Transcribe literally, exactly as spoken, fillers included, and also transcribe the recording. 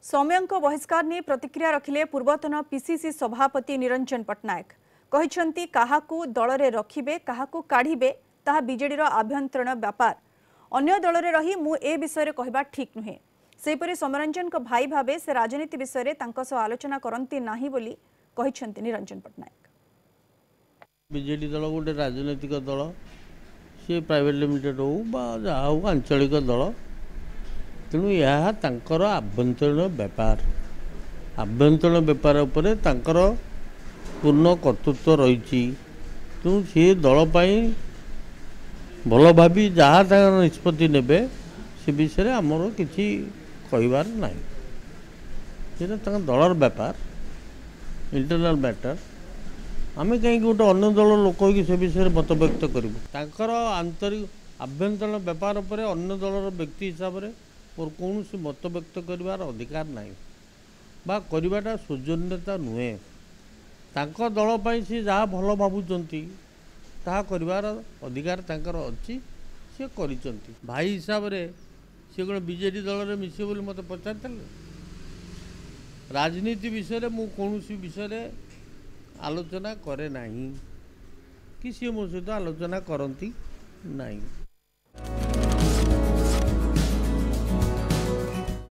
ସୌମ୍ୟଙ୍କ ବହିଷ୍କାର ନେଇ ପ୍ରତିକ୍ରିୟା ରଖିଲେ ପୂର୍ବତନ ପିସିସି ସଭାପତି ନିରଞ୍ଜନ ପଟ୍ଟନାୟକ। କହିଛନ୍ତି, କାହାକୁ ଦଳରେ ରଖିବେ, କାହାକୁ କାଢ଼ିବେ, ତାହା ବିଜେଡିର ଆଭ୍ୟନ୍ତରୀଣ ବ୍ୟାପାର। ଅନ୍ୟ ଦଳରେ ରହି ମୁଁ ଏ ବିଷୟରେ କହିବା ଠିକ୍ ନୁହେଁ। ସେହିପରି ସୌମ୍ୟରଞ୍ଜନଙ୍କ ଭାଇ ଭାବେ ସେ ରାଜନୀତି ବିଷୟରେ ତାଙ୍କ ସହ ଆଲୋଚନା କରନ୍ତି ନାହିଁ ବୋଲି କହିଛନ୍ତି ନିରଞ୍ଜନ ପଟ୍ଟନାୟକ। ବିଜେଡି ଦଳ ଗୋଟେ ରାଜନୈତିକ ଦଳ, ସିଏ ପ୍ରାଇଭେଟ୍ ଲିମିଟେଡ୍ ହଉ ବା ଯାହା ହଉ, ଆଞ୍ଚଳିକ ଦଳ। ତେଣୁ ଏହା ତାଙ୍କର ଆଭ୍ୟନ୍ତରୀଣ ବ୍ୟାପାର। ଆଭ୍ୟନ୍ତରୀଣ ବ୍ୟାପାର ଉପରେ ତାଙ୍କର ପୂର୍ଣ୍ଣ କର୍ତ୍ତୃତ୍ୱ ରହିଛି। ତେଣୁ ସିଏ ଦଳ ପାଇଁ ଭଲ ଭାବି ଯାହା ତାଙ୍କର ନିଷ୍ପତ୍ତି ନେବେ, ସେ ବିଷୟରେ ଆମର କିଛି କହିବାର ନାହିଁ। ସେଇଟା ତାଙ୍କ ଦଳର ବ୍ୟାପାର, ଇଣ୍ଟରନାଲ୍ ମ୍ୟାଟର୍। ଆମେ କାହିଁକି ଗୋଟେ ଅନ୍ୟ ଦଳ ଲୋକ ହେଇକି ସେ ବିଷୟରେ ମତବ୍ୟକ୍ତ କରିବୁ? ତାଙ୍କର ଆନ୍ତରିକ ଆଭ୍ୟନ୍ତରୀଣ ବ୍ୟାପାର ଉପରେ ଅନ୍ୟ ଦଳର ବ୍ୟକ୍ତି ହିସାବରେ ମୋର କୌଣସି ମତବ୍ୟକ୍ତ କରିବାର ଅଧିକାର ନାହିଁ ବା କରିବାଟା ସୌଜନ୍ୟତା ନୁହେଁ। ତାଙ୍କ ଦଳ ପାଇଁ ସେ ଯାହା ଭଲ ଭାବୁଛନ୍ତି, ତାହା କରିବାର ଅଧିକାର ତାଙ୍କର ଅଛି, ସେ କରିଛନ୍ତି। ଭାଇ ହିସାବରେ ସେ କ'ଣ ବିଜେଡ଼ି ଦଳରେ ମିଶିବେ ବୋଲି ମୋତେ ପଚାରିଥିଲେ? ରାଜନୀତି ବିଷୟରେ ମୁଁ କୌଣସି ବିଷୟରେ ଆଲୋଚନା କରେ ନାହିଁ କି ସିଏ ମୋ ସହିତ ଆଲୋଚନା କରନ୍ତି ନାହିଁ।